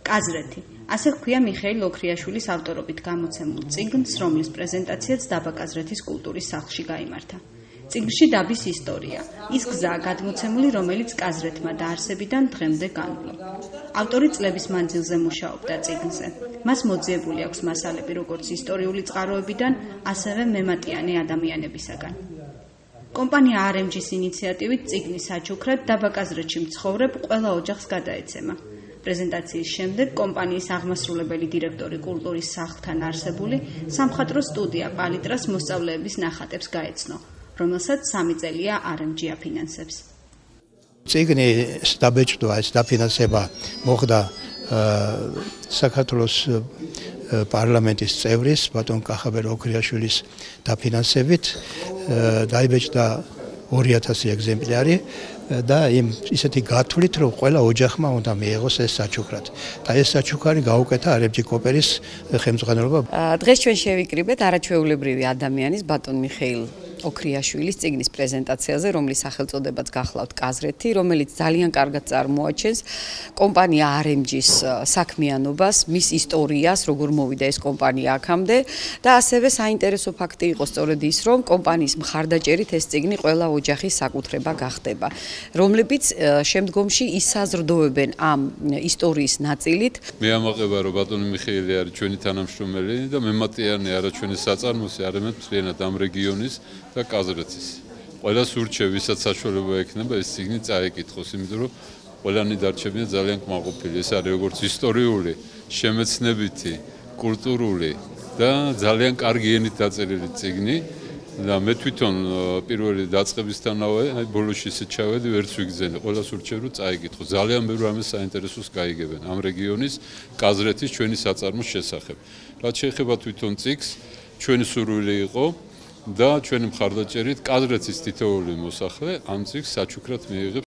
კაზრეთი. ასე ჰქვია მიხეილ ოქრიაშვილის ავტორობით გამოცემულ წიგნს, რომლის პრეზენტაციაც დაბა კაზრეთის კულტურის სახლში გაიმართა. წიგნში დაბის ისტორია, ის გზაა გადმოცემული, რომელიც კაზრეთმა დაარსებიდან დღემდე განვლო. ავტორი წლების მანძილზე მუშაობდა წიგნზე. მას მოძიებული აქვს მასალები როგორც ისტორიული წყაროებიდან, ასევე მემატიანე ადამიანებისაგან. კომპანია RMG-ის ინიციატივით წიგნის საჩუქრად დაბა კაზრეთში მცხოვრებ ყველა ოჯახს გადაეცემა. პრეზენტაციის შემდეგ კომპანიის აღმასრულებელი დირექტორი კულტურის სახლთან არსებული სამხატვრო სტუდია პალიტრას მოსწავლეების ნახატებს გაეცნო, რომელსაც 3 წელია RMG აფინანსებს. წიგნის დაბეჭდვა, ეს დაფინანსება მოხდა საქართველოს პარლამენტის წევრის ბატონ კახაბერ ოქრიაშვილის დაფინანსებით. დაიბეჭდა 2000 ეგზემპლარი და ისეთი გათვლით, რომ ყველა ოჯახმა უნდა მიიღოს ეს საჩუქრად. და ეს საჩუქარი გაუკეთა RMG კოპერის ხელმძღვანელობა. დღეს ჩვენ შევიკრიბეთ არაჩვეულებრივი ადამიანის ბატონ მიხეილ ოქრიაშვილის წიგნის პრეზენტაციაზე, რომლის სახელწოდებაც გახლავთ კაზრეთი, რომელიც ძალიან კარგად წარმოაჩენს კომპანია RMG-ის საქმიანობას, მის ისტორიას, როგორ მოვიდა ეს კომპანია აქამდე და ასევე საინტერესო ფაქტი იყო სწორედ ის, რომ კომპანიის მხარდაჭერით ეს წიგნი ყველა ოჯახის საკუთრება გახდება, რომლებიც შემდგომში ისაზრდოებენ ამ ისტორიის ნაწილით. მე ამაყება, რომ ბატონი მიხეილი არის ჩვენი თანამშრომელი და მემატიანე არა ჩვენი საწარმოსი, არამედ მთლიანად ამ რეგიონის და კაზრეთის. ყველას ურჩევ, ვისაც საშუალება ექნება ეს წიგნი წაეკითხოს, იმიტომ რომ ყველანი დარჩებიან ძალიან კმაყოფილი. ეს არის როგორც ისტორიული, შემეცნებითი, კულტურული და ძალიან კარგი ენით დაწერილი წიგნი. და მე თვითონ პირველი დაწყებისთანავე, ბოლოში ისე ჩავედი, ვერც ვიგზენე. ყველას ურჩევ, რომ წაეკითხო. ძალიან ბევრ ამის საინტერესოს გაიგებენ ამ რეგიონის, კაზრეთის ჩვენი საწარმოს შესახებ. რაც შეეხება თვითონ წიგნს, ჩვენი სურვილი იყო და ჩვენი მხარდაჭერით კაზრეთის თითოეული მოსახლე ამ წიგნს საჩუქრად მიიღებს